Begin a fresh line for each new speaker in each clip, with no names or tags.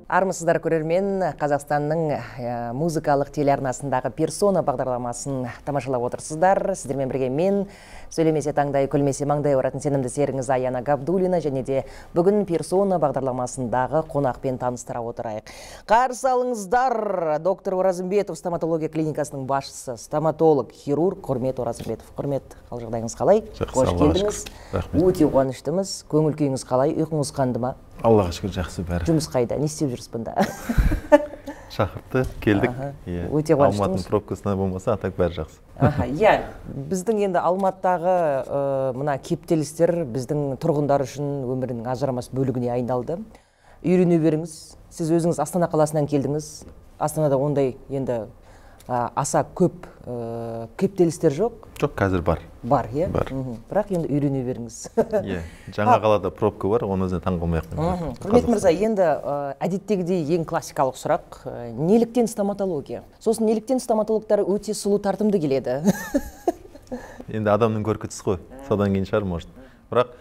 Армысыздар көрермен, Қазақстанның музыкалық телеарнасындағы персона бағдарламасын тамашалап отырсыздар. Сіздермен бірге мен, сөйлемесе таңдай, күлмесе маңдай оратын сенімді серіңіз Аяна Габдулина, және де бүгін персона бағдарламасындағы қонақпен таныстыра отырайық. Қарсы алыңыздар, доктор Оразымбетов, стоматология клиникасының басшысы, стоматолог, хирург Құрмет Оразымбетов. Құрмет, қал жағдайыңыз қалай?
Қош келдіңіз.
Өте қуаныштымыз. Көңіл күйіңіз қалай? Ұйқыңыз қанды ма?
Аллаға шүкір, жақсы бәрі.
Жұмыс қайда? Не істеп жүрсіз бұнда?
Шақыртты, келдік.
Өте қуаныштымыз.
Алматының пробкасына болмаса, атак бәрі жақсы.
Біздің енді Алматыдағы мына кептелістер біздің тұрғындар үшін өмірінің ажырамас бөлігіне айналды. Үйрене беріңіз. Сіз өзіңіз Астана қаласынан келдіңіз. Астанада ондай енді аса көп кептелістер жоқ?
Жоқ, қазір бар.
Бар, е?
Бар.
Бірақ енді үйрене беріңіз.
Жаңа қалада пробка бар, оны өзіне таң қалмайық.
Құрмет мырза, енді әдеттегідей ең классикалық сұрақ, неліктен стоматология? Сосын неліктен стоматологтар өте сұлу тартымды келеді?
Енді адамның көркі түсі ғой, содан кейін шығар, может. Бірақ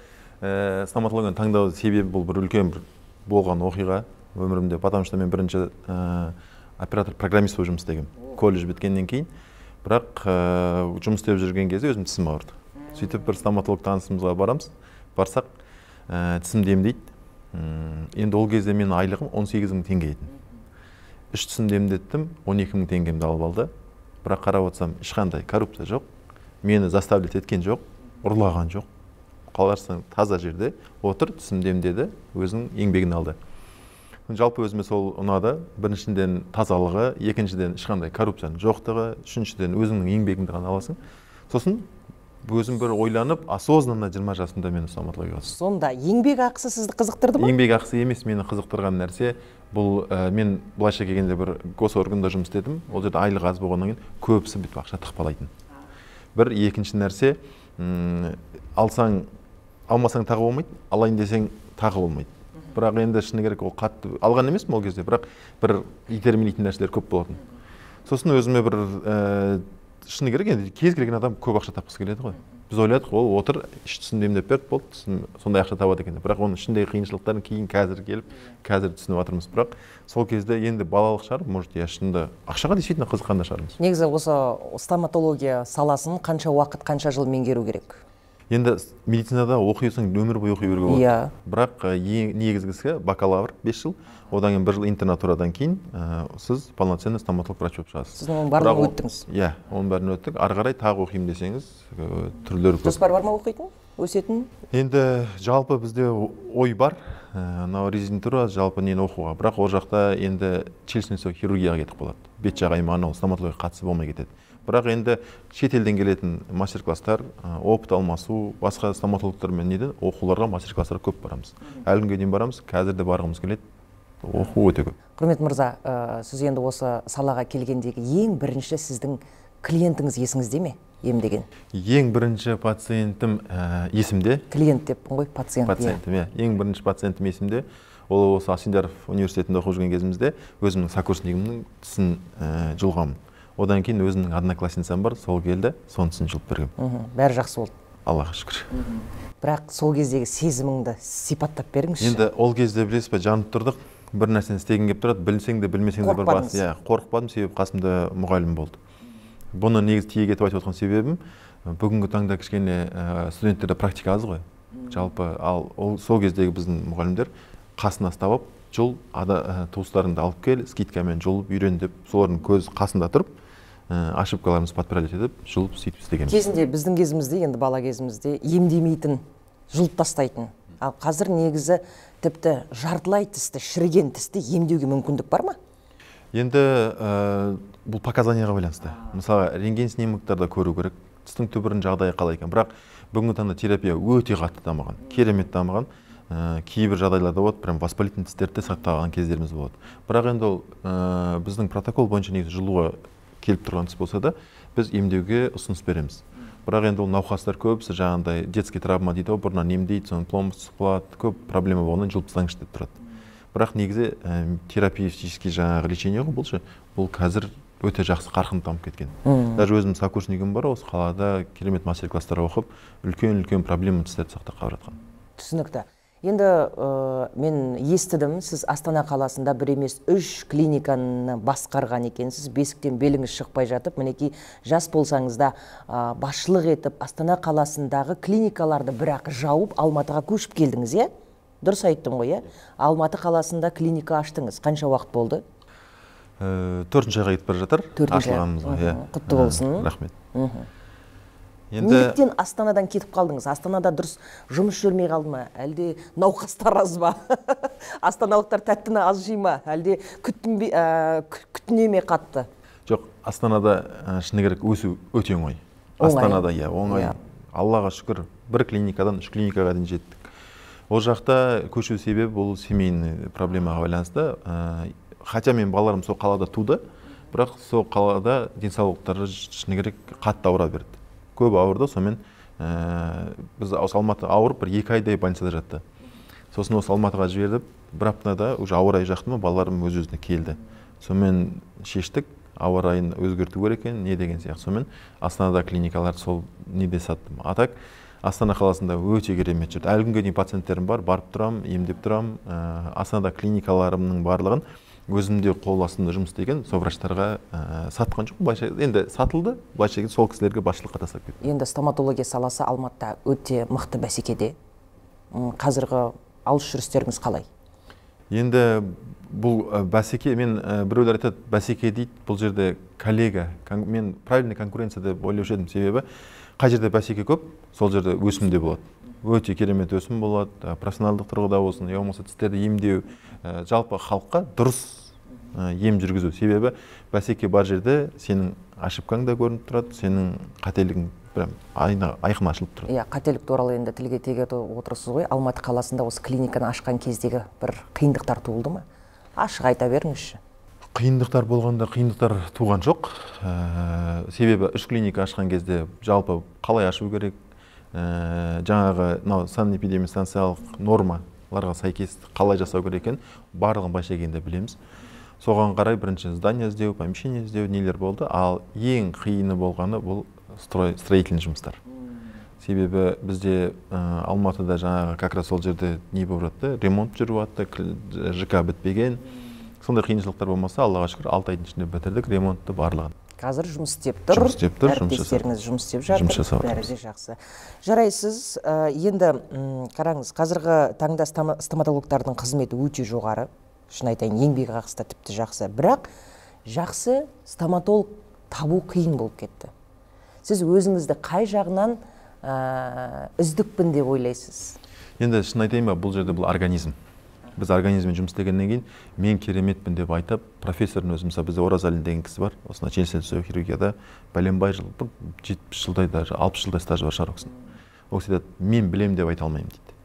стоматологияны таңдау себебі бұл бір үлкен болған оқиға өмірімде, потому что мен бірінші оператор-программист болып жұмыс істегенмін. Колледж біткеннен кейін, бірақ жұмыс істеп жүрген кезде өзім тісім ауырды. Сөйтіп бір стоматолог танысымызға барамыз, барсақ тісімді емдейді. Енді ол кезде менің айлығым 18.000 теңге еді. Үш тісімді емдеттім, 12.000 теңгемді алып алды. Бірақ қарап отырсам, ешқандай коррупция жоқ, мені заставлять еткен жоқ, ұрлаған жоқ. Қаларсаң таза жерде отыр, тісімді емдеді, өзінің еңбегін алды. Жалпы өзіме сол ұнады. Біріншіден тазалығы, екіншіден ешқандай коррупцияның жоқтығы, үшіншіден өзіңнің еңбегіңді ғана аласың. Сосын өзім бір ойланып, осознанно 20 жасымда мені стоматологияға түсті.
Сонда еңбек ақысы сізді қызықтырды ма?
Еңбек ақысы емес, мені қызықтырған нәрсе бұл, мен былайша келгенде бір госорганда жұмыс істедім. Ол жерде айлық аз болғаннан кейін көбісі бүйтіп ақша тықпалайтын. Бір екінші нәрсе, алмасаң тағы болмайды, алайын десең тағы болмайды. Бірақ енді шыны керек ол қатты алған емес ол кезде, бірақ бір итермелейтін нәрселер көп болатын. Сосын өзіме бір шыны керек енді кез келген адам көп ақша тапқысы келеді ғой. Біз ойладық, ол отыр, іш түсімді емдеп берді, болды, сондай ақша табады екен. Бірақ оның ішіндегі қиыншылықтарын кейін қазір келіп, қазір түсініп жатырмыз. Бірақ сол кезде енді балалық шығар, может, шынында ақшаға действительно қызыққан да шығармыз.
Негізі осы стоматология саласын қанша уақыт, қанша жыл меңгеру керек?
Енді медицинада оқисың, өмір бойы оқи беруге болады. Бірақ негізгісі бакалавр 5 жыл, одан кейін 1 жыл интернатурадан кейін сіз полноценный стоматолог врач болып шығасыз.
Сіз оның барлығын өттіңіз?
Иә, оның бәрін өттік. Ары қарай тағы оқимын десеңіз, түрлері көп.
Жоспар бар ма оқитын? Өсетін?
Енді жалпы бізде ой бар. Резидентура жалпы нені оқуға. Бірақ ол жақта енді челюстный хирургияға кетіп қалады. Бет жақ аймағына стоматология қатысы болмай кетеді. Бірақ енді шетелден келетін мастер-класстар, опыт алмасу, басқа стоматологтармен оқуларға мастер-класстар көп барамыз. Әлі күнге дейін барамыз, қазір де барғымыз келеді. Оқу өте көп.
Құрмет мырза, сіз енді осы салаға келгендегі ең бірінші сіздің клиентіңіз есіңізде ме, емдеген?
Ең бірінші пациентім есімде.
Клиент деппін ғой, пациент.
Пациентім, иә. Ең бірінші пациентім есімде. Ол осы Асфендияров университетінде оқып жүрген кезімізде өзімнің сокурсникімнің тісін жұлғамын. Одан кейін өзімнің одноклассницам бар, сол келді, соның тісін жұлып бергем.
Бәрі жақсы болды.
Аллаға шүкір.
Бірақ сол кездегі сезіміңді сипаттап беріңізші.
Енді ол кезде білесіз бе, жанып тұрдық, бір нәрсені істеген келіп тұрады, білсең де білмесең де бір бас. Қорықпадым, себебі қасымда мұғалім болды. Бұны негіз тиек етіп айтып отқан себебім, бүгінгі таңда кішкене студенттерде практика аз ғой. Жалпы сол кездегі біздің мұғалімдер қасына ұстап, жол туыстарыңды алып кел, скидкамен жұлып үйрен деп, солардың көз қасында тұрып, ошибкаларымыз подправить етіп, жұлып сөйтіп істеген.
Кезінде біздің кезімізде, енді бала кезімізде емдемейтін, жұлып тастайтын. Ал қазір негізі тіпті жартылай тісті, шіріген тісті емдеуге мүмкіндік бар ма?
Енді бұл показанияға байланысты. Мысалы, рентген снимоктарда көру керек, тістің түбірінің жағдайы қалай екен. Бірақ бүгінгі таңда терапия өте қатты дамыған, керемет дамыған. Кейбір жағдайларда болады, прям воспалительный тістерді сақтаған кездеріміз болады. Бірақ енді ол біздің протокол бойынша негізі жұлуға келіп тұрған тіс болса да, біз емдеуге ұсыныс береміз. Бірақ енді ол науқастар көбісі жаңағындай детский травма дейді, бұрыннан емдейді, соның пломбы сұқылады, көп проблема болғаннан жұлып тастаңызшы деп тұрады. Бірақ негізі терапевтический жаңағы лечение ғой, бұл қазір өте жақсы қарқын дамып кеткен. Даже өзім сокурсникім бар, осы қалада керемет мастер-класстар оқып, үлкен проблема тістерді сақтап қалып жатқан.
Түсінікті. Енді мен естідім, сіз Астана қаласында бір емес 3 клиниканы басқарған екенсіз, бесіктен беліңіз шықпай жатып, мінекей жас болсаңыз да басшылық етіп, Астана қаласындағы клиникаларды бірақ жауып, Алматыға көшіп келдіңіз, е? Дұрыс айттым ғой, е? Алматы қаласында клиника аштыңыз. Қанша уақыт болды?
4-ші айға кетіп бара жатыр. Ашылғанымызға.
Құтты болсын.
Рахмет.
Неліктен Астанадан кетіп қалдыңыз? Астанада дұрыс жұмыс жүрмей қалды ма? Әлде науқастар аз ба? Астаналықтар тәттіні аз жей ма? Әлде күтіне ме қатты?
Жоқ, Астанада шыны керек өсу өте оңай. Астанада оңай. Аллаға шүкір, бір клиникадан 3 клиникаға дейін жеттік. Ол жақта көшу себебі бұл семейный проблемаға байланысты. Хотя мен балаларым сол қалада туды, бірақ сол қалада денсаулықтары шыны керек қатты ауыра берді. Көп ауырды, сонымен біз Алматы ауырып бір 2 айдай больницада жатты. Сосын осы Алматыға жібердіп, бір аптада уже ауа райы жақты ма, балаларым өз-өзіне келді. Сонымен шештік, ауа райын өзгерту керек екен, не деген сияқты. Сонымен Астанада клиникалар сол неде саттым. Атак Астана қаласында өте керемет жүрді. Әлі күнге дейін пациенттерім бар, барып тұрам, емдеп тұрам. Астанада клиникаларымның барлығын өзімде қол астында жұмыс істеген сол врачтарға сатқан жоқ. Былайша енді сатылды, былайша сол кісілерге басшылыққа тастап кетті.
Енді стоматология саласы Алматыда өте мықты бәсекеде. Қазіргі алыс жүрістеріңіз қалай?
Енді бұл бәсеке, мен біреулер айтады, бәсеке дейді, бұл жерде коллега, мен правильный конкуренция деп ойлаушы едім, себебі қай жерде бәсеке көп, сол жерде өсім де болады. Өте керемет өсім болады, профессионалдық тұрғыда болсын, я болмаса тістерді емдеу, жалпы халыққа дұрыс ем жүргізу. Себебі бәсеке бар жерде сенің ошибкаң да көрініп тұрады, сенің қателігің айқын ашылып тұрады.
Иә, қателік туралы енді тілге тиек етіп отырсыз ғой. Алматы қаласында осы клиниканы ашқан кездегі бір қиындықтар туылды ма? Ашық айта беріңізші.
Қиындықтар болғанда қиындықтар туған жоқ. Себебі 3 клиника ашқан кезде жалпы қалай ашу керек, жаңағы санэпидемстанциялық нормаларға сәйкес қалай жасау керек екен, барлығын былайша келгенде білеміз. Соған қарай бірінші здание іздеу, помещение іздеу нелер болды, ал ең қиыны болғаны бұл строительный жұмыстар. Себебі бізде Алматыда жаңағы как раз сол жерде не болып жатты, ремонт жүріп жатты, ЖК бітпеген. Сондай қиыншылықтар болмаса, Аллаға шүкір 6 айдың ішінде бітірдік ремонтты барлығын.
Қазір жұмыс істеп тұр. Әріптестеріңіз жұмыс істеп жатыр. Бәрі де жақсы. Жарайсыз, енді қараңыз, қазіргі таңда стоматологтардың қызметі өте жоғары. Шын айтайын, еңбек ақысы да тіпті жақсы. Бірақ жақсы стоматолог табу қиын болып кетті. Сіз өзіңізді қай жағынан үздікпін деп ойлайсыз?
Енді шын айтайын ба, бұл жерде бұл организм. Біз организммен жұмыс істегеннен кейін мен кереметпін деп айтып, профессордың өзі, мысалы бізде Оразалин деген кісі бар, осына желсел түсу хирургияда бәленбай жыл, 70 жылдай даже 60 жылдай стажы бар шығар ол кісінің. Ол кісі айтады, мен білем деп айта алмаймын дейді.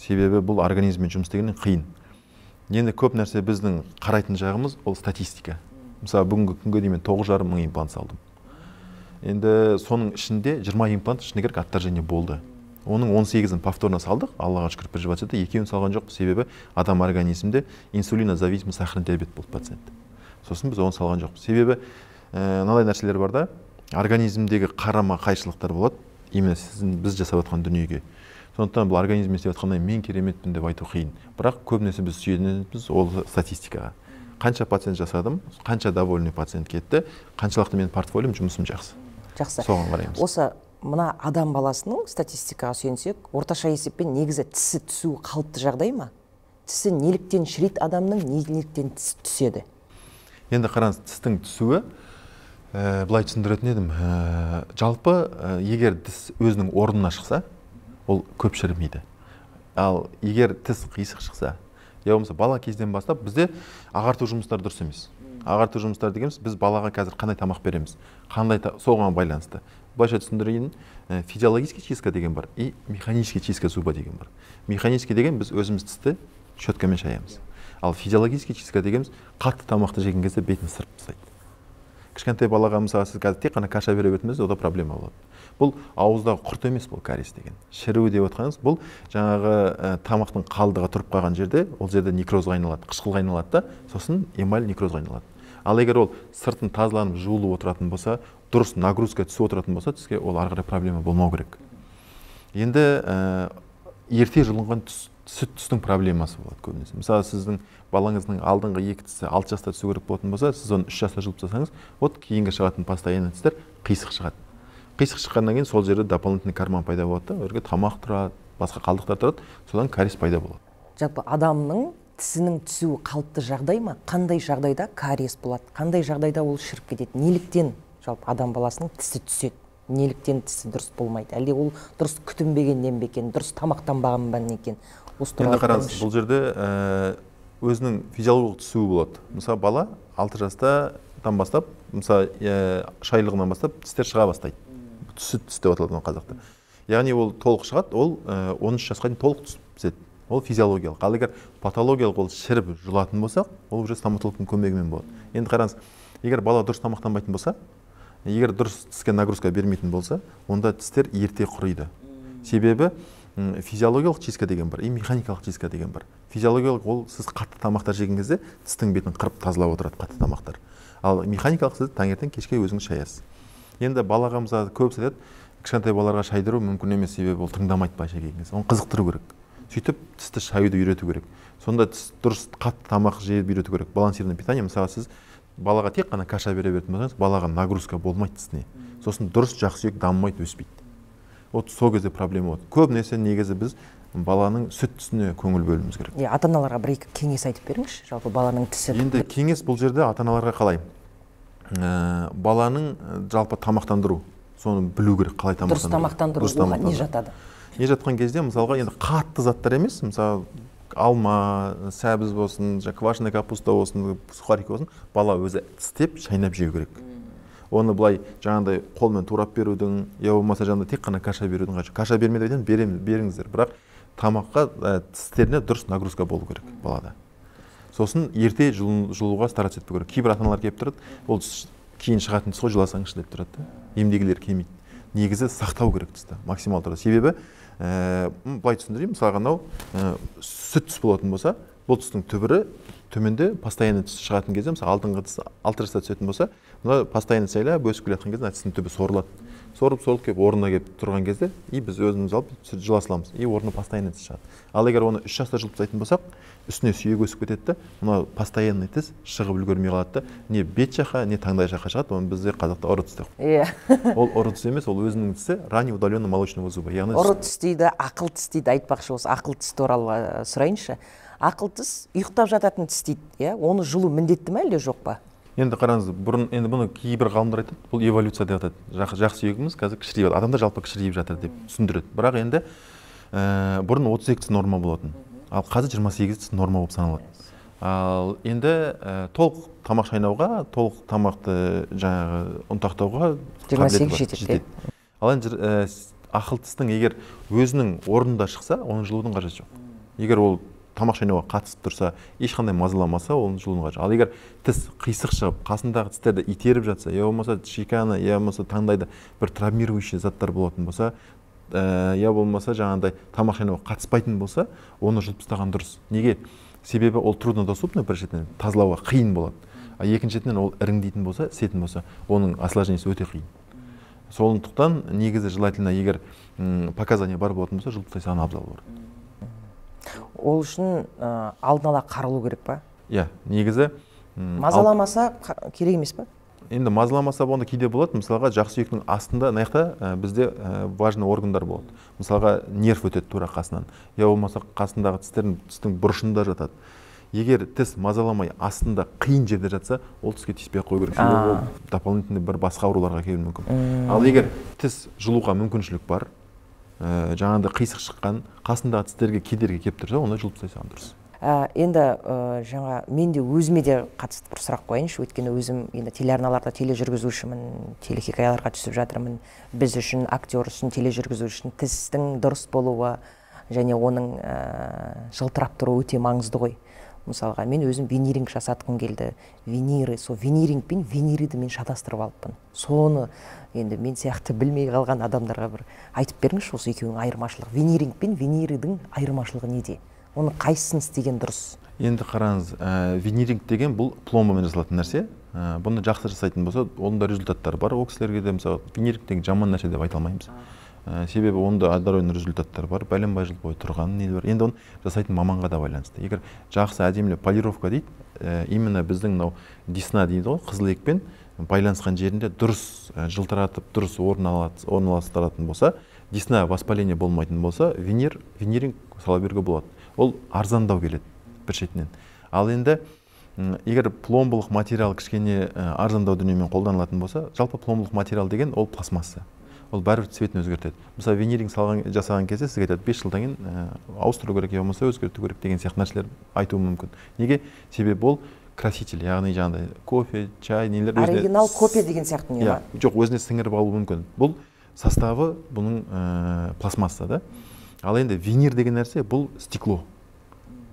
Себебі бұл организммен жұмыс істегеннен қиын. Енді көп нәрсе біздің қарайтын жағымыз ол статистика. Мысалы бүгінгі күнге дейін мен 9,5 мың имплант салдым. Енді соның ішінде 20 имплант шыны керек отторжение болды. Оның 18-ін повторно салдық, Аллаға шүкір приживацияда, 2-ін салған жоқ, себебі адам организмде инсулинозависимый сахарный диабет болды пациент. Сосын біз оны салған жоқ. Себебі мынадай нәрселер бар да, организмдегі қарама қайшылықтар болады, именно біз жасап жатқан дүниеге. Сондықтан бұл организммен істеп жатқаннан мен кереметпін деп айту қиын. Бірақ көбінесе біз сүйенеміз ол статистикаға. Қанша пациент жасадым, қанша довольный пациент кетті, қаншалықты менің портфолиом, жұмысым жақсы.
Жақсы.
Соған қараймыз.
Осы мына адам баласының статистикаға сүйенсек, орташа есеппен негізі тісі түсу қалыпты жағдай ма? Тісі неліктен шірейді адамның, неліктен тісі түседі?
Енді қараңыз, тістің түсуі, былай түсіндіретін едім, жалпы егер тіс өзінің орнына шықса, ол көп шірімейді. Ал егер тіс қисық шықса, я болмаса бала кезден бастап бізде ағарту жұмыстары дұрыс емес. Ағарту жұмыстары дегеніміз, біз балаға қазір қандай тамақ береміз, қандай соған байланысты. Былайша түсіндірейін, физиологический чистка деген бар и механический чистка зуба деген бар. Механический деген біз өзіміз тісті щеткамен шаямыз. Ал физиологический чистка дегеніміз қатты тамақты жеген кезде бетін сырып тастайды. Кішкентай балаға мысалы сіз қазір тек қана каша бере беретініңізде ода проблема болады. Бұл ауыздағы құрт емес, бұл кариес деген. Шіруі деп отқаныңыз, бұл жаңағы тамақтың қалдығы тұрып қалған жерде, ол жерде некрозға айналады, қышқылға айналады да, сосын эмаль некрозға айналады. Ал егер ол сыртын тазаланып жуылып отыратын болса, дұрыс нагрузка түсіп отыратын болса, тіске ол ары қарай проблема болмау керек. Енді ерте жұлынған сүт тістің проблемасы болады көбінесе. Мысалы сіздің балаңыздың алдыңғы 2 тісі 6 жаста түсу керек болатын болса, сіз оны 3 жаста жұлып тастасаңыз, вот кейінгі шығатын постоянный тістер қисық шығады. Қисық шыққаннан кейін сол жерде дополнительный карман пайда болады да, өрге тамақ тұрады, басқа қалдықтар тұрады, содан кариес пайда болады.
Жалпы адамның тісінің түсуі қалыпты жағдай ма? Қандай жағдайда кариес болады? Қандай жағдайда ол шіріп кетеді? Неліктен жалпы адам баласының тісі түседі? Неліктен тісі дұрыс болмайды? Әлде ол дұрыс күтінбегеннен бе екен, дұрыс тамақтанбағаннан екен?
Енді қараңыз, бұл жерде өзінің физиологиялық түсуі болады. Мысалы бала 6 жастан бастап, мысалы шайлығынан бастап тістер шыға бастайды. Сүт тіс деп аталады қазақта. Яғни ол толық шығады, ол 13 жасқа дейін толық түседі. Ол физиологиялық. Ал егер патологиялық ол шіріп жұлатын болсақ, ол уже стоматологтың көмегімен болады. Енді қараңыз, егер бала дұрыс тамақтанбайтын болса, егер дұрыс тіске нагрузка бермейтін болса, онда тістер ерте құриды. Себебі физиологиялық чистка деген бар, и механикалық чистка деген бар. Физиологиялық ол сіз қатты тамақтар жеген кезде тістің бетін қырып тазалап отырады қатты тамақтар. Ал механикалық сіз таңертең кешке өзіңіз шаясыз. Енді балаға мысалы көп айтады, кішкентай балаларға шайдыру мүмкін емес, себебі ол тыңдамайды былайша келген кезде. Оны қызықтыру керек. Сөйтіп тісті шаюды үйрету керек. Сонда тіс дұрыс қатты тамақ жеп үйрету керек. Балансированное питание, мысалы сіз балаға тек қана каша бере беретін болсаңыз, балаға нагрузка болмайды тісіне. Сосын дұрыс жақсы сүйек дамымайды, өспейді. Вот сол кезде проблема болады. Көп нәрсе негізі біз баланың сүт тісіне көңіл бөлуіміз керек.
Ата-аналарға бір-екі кеңес айтып беріңізші, жалпы баланың тісі.
Енді кеңес бұл жерде ата-аналарға қалай? Баланың жалпы тамақтандыру, соны білу керек, қалай тамақтандыру.
Дұрыс тамақтандыру, оған не жатады?
Не жатқан кезде, мысалға, енді қатты заттар емес, мысалы, алма, сәбіз болсын, квашеная капуста болсын, сухарик болсын, бала өзі тістеп, шайнап жеу керек. Оны былай жаңағыдай қолмен турап берудің, я болмаса жаңағыдай тек қана каша берудің қажеті. Каша бермеден беріңіздер, бірақ тамаққа тістеріне дұрыс нагрузка болу керек балада. Сосын ерте жұлуға стараться етпеу керек. Кейбір ата-аналар келіп тұрады, ол кейін шығатын тіс қой, жыласаңызшы деп тұрады. Емдегілер келмейді. Негізі сақтау керек тісті, максимал түрде. Себебі былай түсіндірейін, мысалға анау сүт тіс болатын болса, бұл тістің түбірі төменде постоянный тіс шығатын кезде, мысалы алдыңғы тіс 6 жаста түсетін болса, мына постоянный сайлап өсіп келе жатқан кезде тістің түбі сорылады. Сорып келіп орнына келіп тұрған кезде, біз өзіміз алып жыла саламыз, орнына постоянный тіс шығады. Ал егер оны 3 жаста жұлып тастайтын болсақ, үстіне сүйек өсіп кетеді, мына постоянный тіс шығып үлгермей қалады, не бет жаққа, не таңдай жаққа шығады, оны біздер қазақта ұры тіс деп. Ол ұры тіс емес, ол өзінің тісі ранний удаленный молочного зуба.
Ұры тіс дейді, ақыл тіс дейді, айтпақшы осы ақыл тіс туралы сұрайыншы. Ақыл тіс ұйықтап жататын тіс дейді, оны жұлу міндетті ме әлде жоқ па?
Енді қараңыз, бұрын енді бұны кейбір ғалымдар айтады, бұл эволюция деп атады. Жақсы сүйегіміз қазір кішірейіп, адамдар жалпы кішірейіп жатыр деп түсіндіреді. Бірақ енді бұрын 32 тіс норма болатын, ал қазір 28 тіс норма болып саналады. Ал енді толық тамақ шайнауға, толық тамақты жаңағы ұнтақтауға
28 жетеді.
Ал енді ақыл тістің егер өзінің орнында шықса, оның жұлудың қажеті жоқ. Егер ол тамақ шайнауға қатысып тұрса, ешқандай мазаламаса, оның жұлудың қажеті. Ал егер тіс қисық шығып, қасындағы тістерді итеріп жатса, я болмаса шеканы, я болмаса таңдайда бір травмирующий заттар болатын болса, я болмаса жаңағыдай тамақ шайнауға қатыспайтын болса, оны жұлып тастаған дұрыс. Неге? Себебі ол труднодоступный, біріншіден тазалауға қиын болады. А екіншіден ол іріңдейтін болса, сетін болса, оның осложнениесі өте қиын. Сондықтан негізі желательно, егер показания бар болатын болса, жұлып тастаған абзал бар.
Ол үшін алдын ала қаралу керек па?
Иә, негізі
мазаламаса керек емес па?
Енді мазаламаса онда кейде болады, мысалға жақсы сүйектің астында, наяқта бізде важный органдар болады. Мысалға нерв өтеді тура қасынан. Я болмаса қасындағы тістің бұрышында жатады. Егер тіс мазаламай астында қиын жерде жатса, ол тіске тиіспей қою керек. Ол дополнительный бір басқа ауруларға келуі мүмкін. Ал егер тіс жұлуға мүмкіншілік бар, жаңағыда қисық шыққан, қасындағы тістерге кедергі келіп тұрса, оны жұлып тастаған дұрыс.
Енді жаңа мен де өзіме де қатысты бір сұрақ қояйыншы, өйткені өзім енді телеарналарда тележүргізушімін, телехикаяларға түсіп жатырмын. Біз үшін, актер үшін, тележүргізуші үшін тістің дұрыс болуы және оның жылтырап тұруы өте маңызды ғой. Мысалға, мен өзім виниринг жасатқым келді. Виниры, сол виниринг пен винириді мен шатастырып алыппын. Соны енді мен сияқты білмей қалған адамдарға бір айтып беріңізші, осы екеуінің айырмашылығы. Виниринг пен виниридың айырмашылығы неде? Оны қайсысын істеген дұрыс?
Енді қараңыз, виниринг деген бұл пломбамен жасалатын нәрсе. Бұны жақсы жасайтын болса, оның да результаттары бар. Ол кісілерге де мысалы виниринг деген жаман нәрсе деп айта алмаймыз. себебі онда отдаленный результаттар бар, бәленбай жыл бойы тұрған нелер бар. Енді оны жасайтын маманға да байланысты. Егер жақсы әдемілеп полировка дейді, именно біздің мынау десна дейді ғой, қызыл екпен байланысқан жерінде дұрыс жылтыратып, дұрыс орналастыратын болса, десна воспаление болмайтын болса, виниринг сала беруге болады. Ол арзандау келеді бір шетінен. Ал енді егер пломбылық материал кішкене арзандау дүниемен қолданылатын болса, жалпы пломбылық материал деген ол пластмасса. Ол бәрібір цветін өзгертеді. Мысалы, виниринг жасаған кезде сізге айтады, 5 жылдан кейін ауыстыру керек, я болмаса өзгерту керек деген сияқты нәрселер айтуы мүмкін. Неге? Себебі ол краситель, яғни жаңағыдай кофе, чай, нелер
оригинал кофе деген сияқты не ма?
Жоқ, өзіне сіңіріп алуы мүмкін. Бұл составы бұның пластмасса да. Ал енді винир деген нәрсе бұл стекло.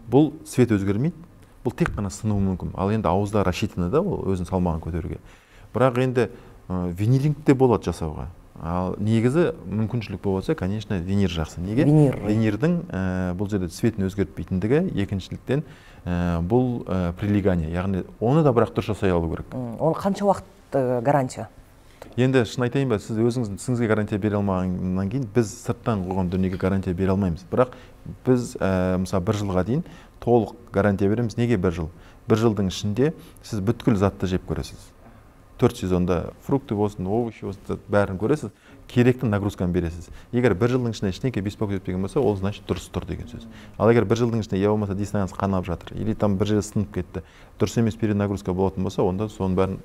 Бұл цвет өзгермейді. Бұл тек қана сынуы мүмкін. Ал енді ауызда рассчитаны да, ол өзінің салмағын көтеруге. Бірақ енді виниринг те болады жасауға. Ал негізі мүмкіншілік болса, конечно, винир жақсы. Неге? Винирдің бұл жерде цветін өзгертпейтіндігі, екіншіліктен бұл прилегание, яғни оны да бірақ дұрыс жасай алу керек.
Оны қанша уақыт гарантия?
Енді шын айтайын ба, сіз өзіңіздің тісіңізге гарантия бере алмағаннан кейін біз сырттан қойған дүниеге гарантия бере алмаймыз. Бірақ біз мысалы 1 жылға дейін толық гарантия береміз. Неге 1 жыл? 1 жылдың ішінде сіз бүткіл затты жеп көресіз. 4 сезонда фрукты болсын, овощи болсын, бәрін көресіз, керекті нагрузканы бересіз. Егер 1 жылдың ішінде ештеңе беспокоить етпеген болса, ол значит дұрыс тұр деген сөз. Ал егер 1 жылдың ішінде я болмаса диссонанс қанап жатыр, или там бір жерде сынып кетті, дұрыс емес перенагрузка болатын болса, онда соның бәрін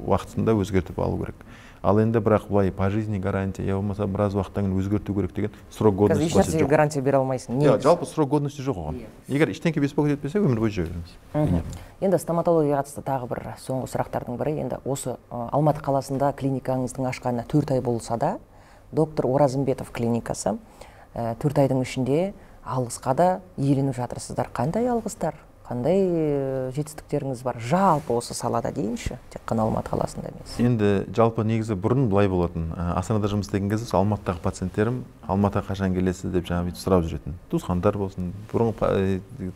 уақытында өзгертіп алу керек. Ал енді бірақ былай по жизни гарантия, я болмаса біраз уақыттан кейін өзгерту керек деген срок годности жоқ.
Қазір гарантия бере алмайсың.
Жалпы срок годности жоқ оған. Егер ештеңе беспокоить етпесе, өмір бойы жүре береміз.
Енді стоматологияға қатысты тағы бір соңғы сұрақтардың бірі, енді осы Алматы қаласында клиникаңыздың ашқанына 4 ай болса да, доктор Оразымбетов клиникасы 4 айдың ішінде алғысқа да иеленіп жатырсыздар. Қандай алғыстар? Қандай жетістіктеріңіз бар? Жалпы осы салада дейінші, тек қана Алматы қаласында емес.
Енді жалпы негізі бұрын былай болатын. Астанада жұмыс істеген кезде Алматыдағы пациенттерім Алматыға қашан келесіз деп жаңа сұрап жүретін. Туысқандар болсын, бұрын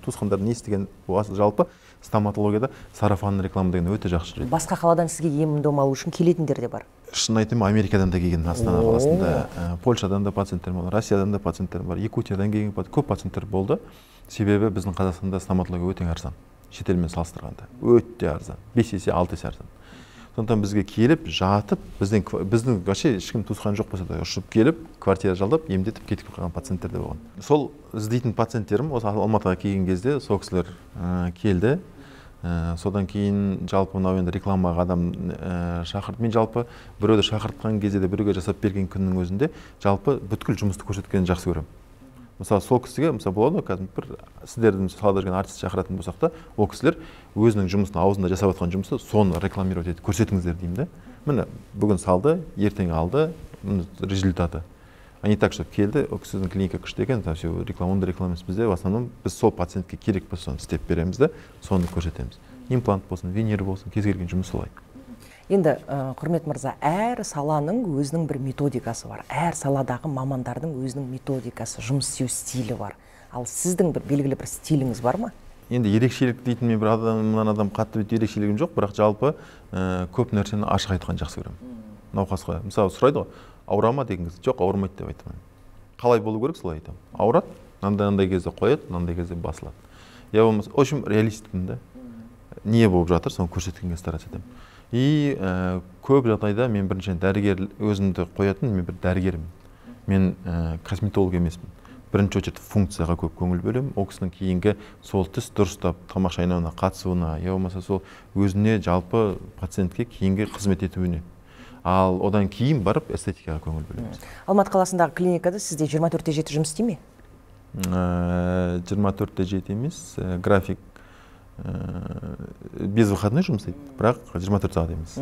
туысқандар не істеген жалпы стоматологияда сарафанный реклама деген өте жақсы жүреді.
Басқа қаладан сізге ем-дом алу үшін келетіндер де бар.
Шын айтайын, Америкадан да келген Астана қаласында, Польшадан да пациенттер болды, Россиядан да пациенттер бар, Якутиядан келген көп пациенттер болды. Себебі біздің Қазақстанда стоматология өте арзан. Шетелмен салыстырғанда өте арзан. 5 есе 6 есе арзан. Сондықтан бізге келіп, жатып, біздің вообще ешкім туысқан жоқ болса да, ұшып келіп, квартира жалдап, емдетіп кетіп қалған пациенттер де болған. Сол іздейтін пациенттерім осы Алматыға келген кезде сол кісілер келді. Содан кейін жалпы мынау енді рекламаға адам шақырды. Мен жалпы біреуді шақыртқан кезде де біреуге жасап берген күннің өзінде жалпы бүткіл жұмысты көрсеткенін жақсы көремін. Мысалы, сол кісіге, мысалы, болады, қазір бір сіздердің салада жүрген артист шақыратын болсақ та, ол кісілер өзінің жұмысын, аузында жасап жатқан жұмысты соны рекламировать етіп көрсетіңіздер деймін да. Міне, бүгін салды, ертең алды, результаты. А не так, чтобы келді, ол кісінің клиника күшті екен, все рекламаны рекламамыз бізде, в основном біз сол пациентке керек болса соны істеп береміз да, соны көрсетеміз. Имплант болсын, винир болсын, кез келген жұмыс солай.
Енді, құрмет мырза, әр саланың өзінің бір методикасы бар. Әр саладағы мамандардың өзінің методикасы, жұмыс істеу стилі бар. Ал сіздің бір белгілі бір стиліңіз бар ма?
Енді ерекшелік дейтін мен бір адам қатты ерекшелігім жоқ, бірақ жалпы көп нәрсені ашық айтқан жақсы көремін. Науқасқа, мысалы, сұрайды ғой, ауырама деген кезде, жоқ, ауырмайды деп айтамын. Қалай болу керек, солай айтамын. Ауырады, мынандай кезде қояды, мынандай кезде басылады. Я болмаса, в общем, реалистпін да. Не болып жатыр, соны көрсеткенге стараться етемін. И көп жағдайда мен біріншіден дәрігер өзімді қоятын, мен бір дәрігермін. Мен косметолог емеспін. Бірінші очередь функцияға көп көңіл бөлемін. Ол кісінің кейінгі сол тіс дұрыстап тамақ шайнауына қатысуына, я болмаса сол өзіне жалпы пациентке кейінгі қызмет етуіне. Ал одан кейін барып эстетикаға көңіл бөлеміз.
Алматы қаласындағы клиникада сізде 24/7 жұмыс істей ме?
24/7 емес, график без выходной жұмыс істейді, бірақ 24 сағат емес.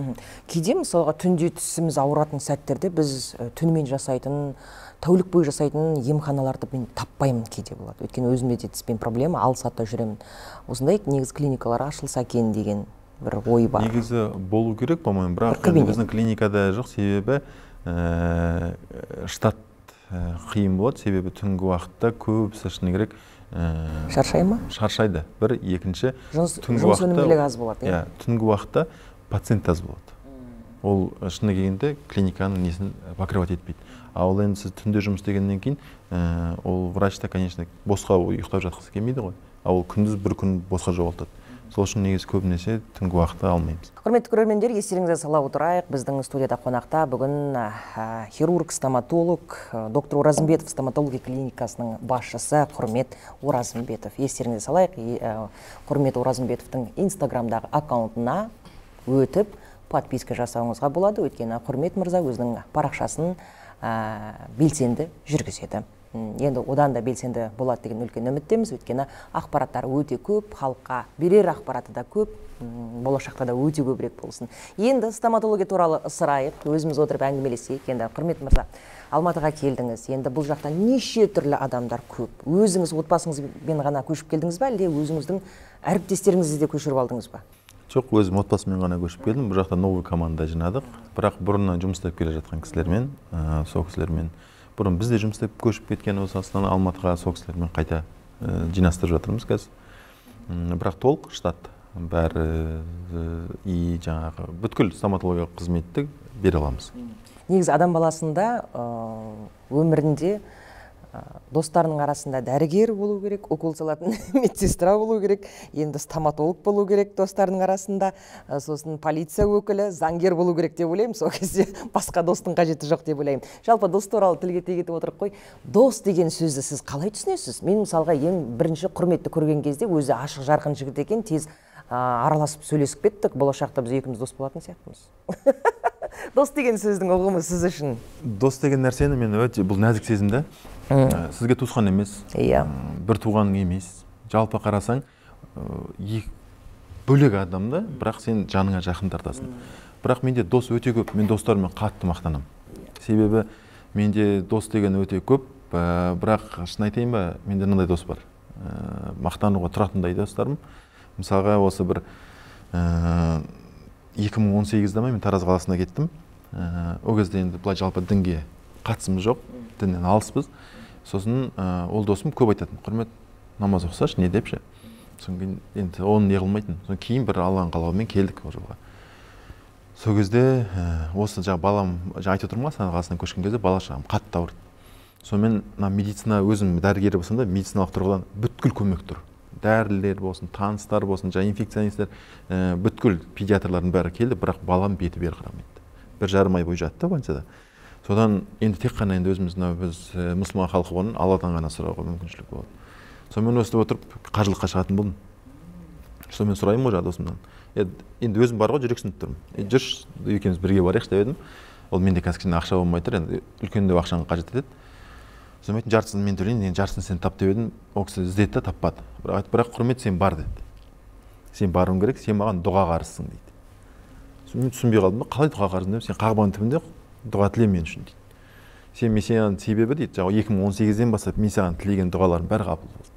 Кейде мысалға түнде тісіміз ауыратын сәттерде біз түнімен жасайтын, тәулік бойы жасайтын емханаларды мен таппаймын кейде болады. Өйткені өзімде де тіспен проблема, алсатта жүремін. Осындай негізі клиникалар ашылса екен деген бір ой бар.
Негізі болу керек, по-моему, бірақ біздің клиникада жоқ, себебі штат қиын болады, себебі түнгі уақытта көбісі шыны керек
шаршай ма?
Шаршайды. Бір, екінші,
жұмыс өнімділігі аз болады.
Түнгі уақытта пациент аз болады. ол шыны келгенде клиниканың несін покрывать етпейді. Ал енді сіз түнде жұмыс істегеннен кейін ол врачта, конечно, босқа ұйықтап жатқысы келмейді ғой. Ал күндіз бір күн босқа жоғалтады. Сол үшін негізі көбінесе түнгі уақытта алмаймыз.
Құрметті көрермендер, естеріңізге сала отырайық, біздің студияда қонақта бүгін хирург, стоматолог, доктор Оразымбетов стоматология клиникасының басшысы Құрмет Оразымбетов. Естеріңізге салайық, Құрмет Оразымбетовтың инстаграмдағы аккаунтына өтіп подписка жасауыңызға болады. Өйткені Құрмет мырза өзінің парақшасын белсенді жүргізеді. Енді одан да белсенді болады деген үлкен үміттеміз. Өйткені ақпараттар өте көп, халыққа берер ақпараты да көп, болашақта да өте көбірек болсын. Енді стоматология туралы сұрайық, өзіміз отырып әңгімелесейік. Енді Құрмет мырза, Алматыға келдіңіз. Енді бұл жақта неше түрлі адамдар көп. Өзіңіз отбасыңызбен ғана көшіп келдіңіз ба, әлде өзіңіздің әріптестеріңізді де көшіріп алдыңыз ба?
Жоқ, өзім отбасыммен ғана көшіп келдім. Бұл жақта новый команда жинадық. Бірақ бұрыннан жұмыс істеп келе жатқан кісілермен, сол кісілермен бұрын бізде жұмыс істеп көшіп кеткен осы Астана, Алматыға сол кісілермен қайта жинастырып жатырмыз қазір. Бірақ толық штат бәрі и жаңағы бүткіл стоматологиялық қызметті бере аламыз.
Негізі адам баласында өмірінде достарының арасында дәрігер болу керек, укол салатын медсестра болу керек, енді стоматолог болу керек достарының арасында, сосын полиция өкілі, заңгер болу керек деп ойлаймын. Сол кезде басқа достың қажеті жоқ деп ойлаймын. Жалпы дос туралы тілге тиек етіп отырып қой. Дос деген сөзді сіз қалай түсінесіз? Мен мысалға ең бірінші Құрметті көрген кезде өзі ашық жарқын жігіт екен, тез араласып сөйлесіп кеттік. Болашақта біз екеуміз дос болатын сияқтымыз. Дос деген сөздің ұғымы сіз үшін?
Дос деген нәрсені мен өте бұл нәзік сезімді. Сізге туысқан емес, бір туғаның емес. Жалпы қарасаң, бөлек адамды, бірақ сен жаныңа жақын тартасың. Бірақ менде дос өте көп, мен достарыммен қатты мақтанам. Себебі менде дос деген өте көп, бірақ шын айтайын ба, менде мынандай дос бар. Мақтануға тұратындай достарым. Мысалға осы бір 2018-де мен Тараз қаласына кеттім. Ол кезде енді былай жалпы дінге қатысымыз жоқ, діннен алыспыз. Сосын ол досым көп айтатын, Құрмет, намаз оқысашы, не депші. Сосын кейін енді оны не қылмайтын. Сосын кейін бір Алланың қалауымен келдік ол жолға. Сол кезде осы жаңа балам, жаңа айтып отырмын ғой, Астана қаласынан көшкен кезде бала шағам қатты ауырды. Сонымен медицина, өзім дәрігері болсам да, медициналық тұрғыдан бүткіл көмек тұр. Дәрілер болсын, таныстар болсын, жаңа инфекционисттер, бүткіл педиатрлардың бәрі келді, бірақ балам беті бері қарамайды. 1,5 ай бойы жатты больницада. Содан енді тек қана енді өзіміз біз мұсылман халқы болғаннан Алладан ғана сұрауға мүмкіншілік болады. Сонымен өстіп отырып қажылыққа шығатын болдым. Сонымен сұраймын ғой жаңа досымнан. Енді өзім бар ғой, жүрексініп тұрмын. Жүрші, екеуміз бірге барайықшы деп едім. Ол менде қазір кішкене ақша болмай тұр, енді үлкендеу ақшаны қажет етеді. Сосын айтын, жартысын мен төлейін, енді жартысын сен тап деп едім. Ол кісі іздеді, таппады. Бірақ Құрмет, сен бар деді. Сен баруың керек, сен маған дұға қарызсың дейді. Мен түсінбей қалдым, қалай дұға қарызым деп, сен қағбаның түбінде дұға тіле мен үшін дейді. Мен саған себебі дейді, 2018-ден бастап мен саған тілеген дұғаларым бәрі қабыл болды.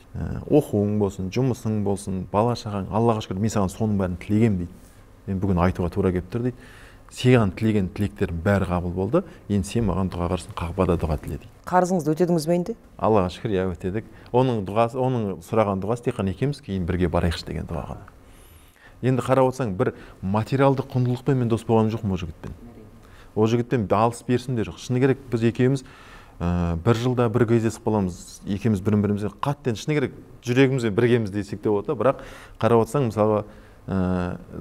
Оқуың болсын, жұмысың болсын, бала шағаң, Аллаға шүкір, мен саған соның бәрін тілегем дейді. Мен бүгін айтуға тура келіп тұр дейді. Саған тілеген тілектерім бәрі қабыл болды. Енді сен маған дұға қарызсың, қағбада дұға тіле дейді.
Қарызыңызды өтедіңіз бе енді?
Аллаға шүкір, иә, өтедік. Оның сұраған дұғасы тек қана екеуміз кейін бірге барайықшы деген дұға ғана. Енді қарап отырсаң, бір материалдық құндылықпен мен дос болған жоқпын ол жігітпен. Ол жігітпен алыс берсін де жоқ. Шыны керек, біз екеуміз бір жылда бір кездесіп қаламыз. Екеуміз бірін-бірімізге қатты, шыны керек, жүрегімізбен біргеміз десек те болады. Бірақ қарап отырсаң, мысалы,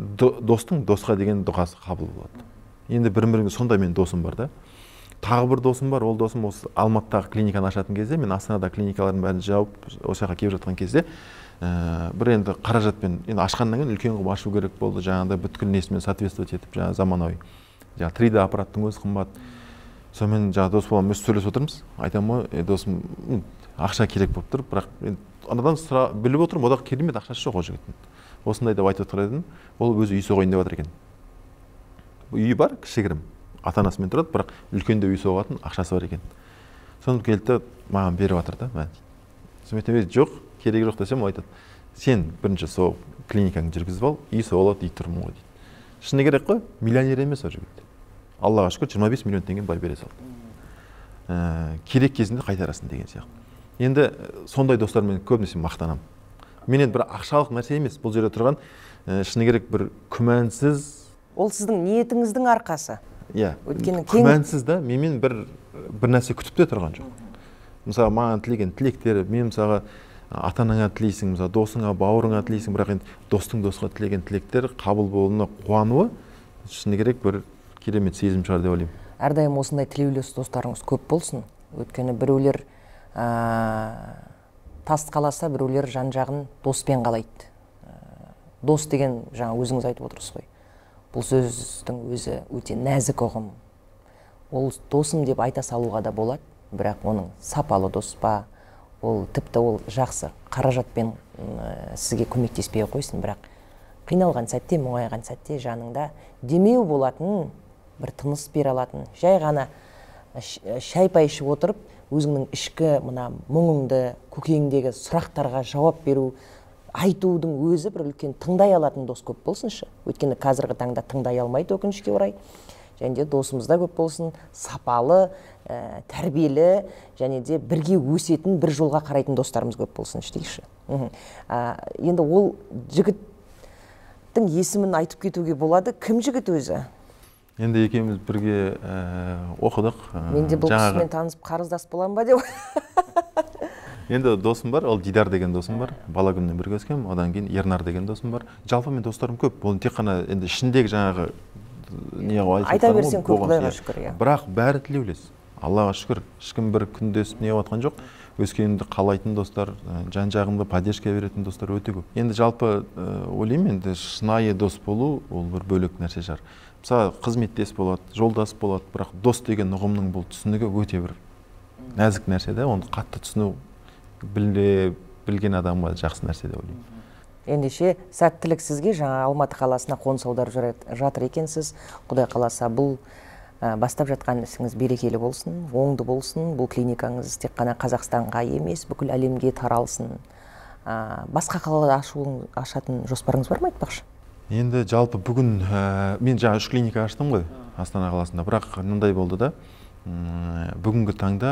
достың досқа деген дұғасы қабыл болады. Енді бірін-бірімізге сондай мен досым бар да. Тағы бір досым бар, ол досым осы Алматыдағы клиниканы ашатын кезде, мен Астанада клиникалардың бәрін жауып, осы жаққа келіп жатқан кезде, бір енді қаражатпен, енді ашқаннан кейін үлкен қылып ашу керек болды, жаңағыдай бүткіл несімен соответствовать етіп, жаңағы заманауи. Жаңағы 3D аппараттың өзі қымбат. Сонымен жаңағы дос боламын, өз сөйлесіп отырмыз. Айтамын ғой, досым, ақша керек болып тұр, бірақ анадан біліп отырмын, одағы керемет ақшасы жоқ ол жігіттің. Осындай деп айтып отыр едім, ол өзі үй соғайын деп жатыр екен. Үйі бар, кішігірім, ата-анасымен тұрады, бірақ үлкенде үй соғатын ақшасы бар екен. Соны келді, маған беріп жатыр да. Сонымен жоқ, керегі жоқ десем, ол айтады, сен бірінші сол клиникаңды жүргізіп ал, үй соғылады, үй тұрмын ғой дейді. Шыны керек қой, миллионер емес ол жігіт. Аллаға шүкір 25 миллион теңге бай бере салды. Керек кезінде қайтарасын деген сияқты. Енді сондай достармен көбінесе мақтанам. Мен енді бір ақшалық нәрсе емес, бұл жерде тұрған шыны керек бір күмәнсіз,
Ол сіздің ниетіңіздің арқасы.
Иә.
Өйткені
күмәнсіз да менен бір нәрсе күтіп те тұрған жоқ. Мысалы маған тілеген тілектер, мен мысалға ата-анаңа тілейсің, мысалы досыңа, бауырыңа тілейсің, бірақ енді достың досқа тілеген тілектер қабыл болуына қуануы шыны керек бір керемет сезім шығар деп ойлаймын.
Әрдайым осындай тілеулес достарыңыз көп болсын. Өйткені біреулер тас қаласа, біреулер жан-жағын доспен қалайды. Дос деген жаңа өзіңіз айтып отырсыз ғой. Бұл сөздің өзі өте нәзік ұғым. Ол досым деп айта салуға да болады, бірақ оның сапалы дос па, ол тіпті ол жақсы қаражатпен сізге көмектеспей қойсын, бірақ қиналған сәтте, мұңайған сәтте жаныңда демеу болатын, бір тыныс бере алатын, жай ғана шай-пай ішіп отырып, өзіңнің ішкі мына мұңыңды, көкейіңдегі сұрақтарға жауап беру, айтудың өзі бір үлкен тыңдай алатын дос көп болсыншы. Өйткені қазіргі таңда тыңдай алмайды, өкінішке орай. Және де досымызда көп болсын, сапалы, тәрбиелі, және де бірге өсетін, бір жолға қарайтын достарымыз көп болсыншы дейші. Енді ол жігіттің есімін айтып кетуге болады. Кім жігіт өзі?
Енді екеуміз бірге оқыдық.
Мен де бұл кісімен танысып қарыздас болам ба деп.
Енді досым бар, ол Дидар деген досым бар. Бала күннен бірге өскем, одан кейін Ернар деген досым бар. Жалпы мен достарым көп. Ол тек қана енді ішіндегі жаңағы
айта берсең көп, Құдайға шүкір.
Бірақ бәрі тілеулес. Аллаға шүкір. Ешкім бір күндесіп не жатқан жоқ. Өскенімді қалайтын достар, жан-жағымды поддержка беретін достар өте көп. Енді жалпы ойлаймын, енді шынайы дос болу ол бір бөлек нәрсе шығар. Мысалы, қызметтес болады, жолдас болады, бірақ дос деген ұғымның бұл түсінігі өте бір нәзік нәрсе де, оны қатты түсіну білген адамға жақсы нәрсе деп ойлаймын.
Ендеше сәттілік сізге, жаңа Алматы қаласына қоныс аударып жатыр екенсіз. Құдай қаласа бұл бастап жатқан ісіңіз берекелі болсын, оңды болсын. Бұл клиникаңыз тек қана Қазақстанға емес, бүкіл әлемге таралсын. Басқа қалада ашатын жоспарыңыз бар ма, айтпақшы?
Енді жалпы бүгін мен жаңа 3 клиника аштым ғой Астана қаласында, бірақ мындай болды да, бүгінгі таңда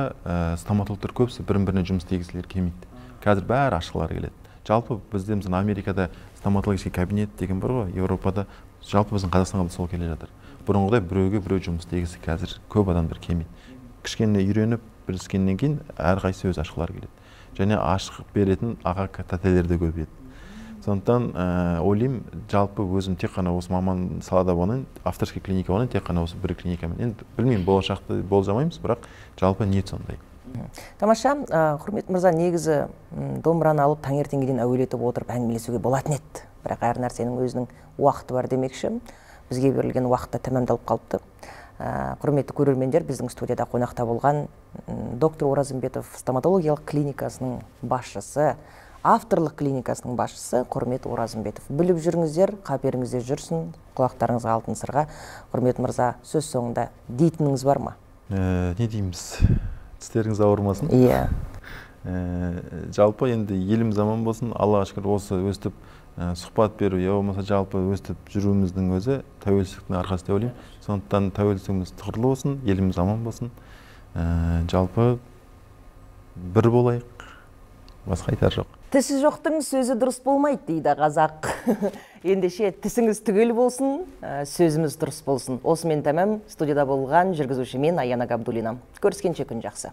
стоматологтар көбісі бірін-біріне жұмыс істегісілер келмейді. Қазір бәрі ашқылары келеді. Жалпы бізде мысалы Америкада стоматологический кабинет деген бар ғой, Еуропада, жалпы біздің Қазақстанға да сол келе жатыр. Бұрынғыдай біреуге біреу жұмыс істегісі қазір көп адамдар келмейді. Кішкене үйреніп біліскеннен кейін әрқайсысы өз ашқылары келеді. Және ашық беретін аға тәтелер де көбейеді. Сондықтан ойлаймын, жалпы өзім тек қана осы маман салада болайын, авторский клиника болайын, тек қана осы бір клиникамен. Енді білмеймін, болашақты болжамаймыз, бірақ жалпы ниет сондай.
Тамаша, құрметті мырза, негізі домбыраны алып таңертеңгіден әуелетіп отырып әңгімелесуге болатын еді. Бірақ әр нәрсенің өзінің уақыты бар демекші. Бізге берілген уақытта тәмамдалып қалыпты. Құрметті көрермендер, біздің студияда қонақта болған доктор Оразымбетов стоматологиялық клиникасының басшысы, авторлық клиникасының басшысы Құрмет Оразымбетов. Біліп жүріңіздер, қаперіңізде жүрсін, құлақтарыңызға алтын сырға. Құрмет мырза, сөз соңында дейтініңіз бар ма?
Не дейміз? Тістеріңіз ауырмасын.
Иә.
Жалпы енді еліміз аман болсын, Аллаға шүкір осы өстіп сұхбат беру, я болмаса жалпы өстіп жүруіміздің өзі тәуелсіздіктің арқасы деп ойлаймын. Сондықтан тәуелсіздігіміз тұғырлы болсын, еліміз аман болсын. Жалпы бір болайық, басқа айтар жоқ.
Тісі жоқтың сөзі дұрыс болмайды дейді қазақ. Ендеше тісіңіз түгел болсын, сөзіміз дұрыс болсын. Осымен тәмам, студияда болған жүргізуші мен Аяна Габдуллина. Көріскенше күн жақсы.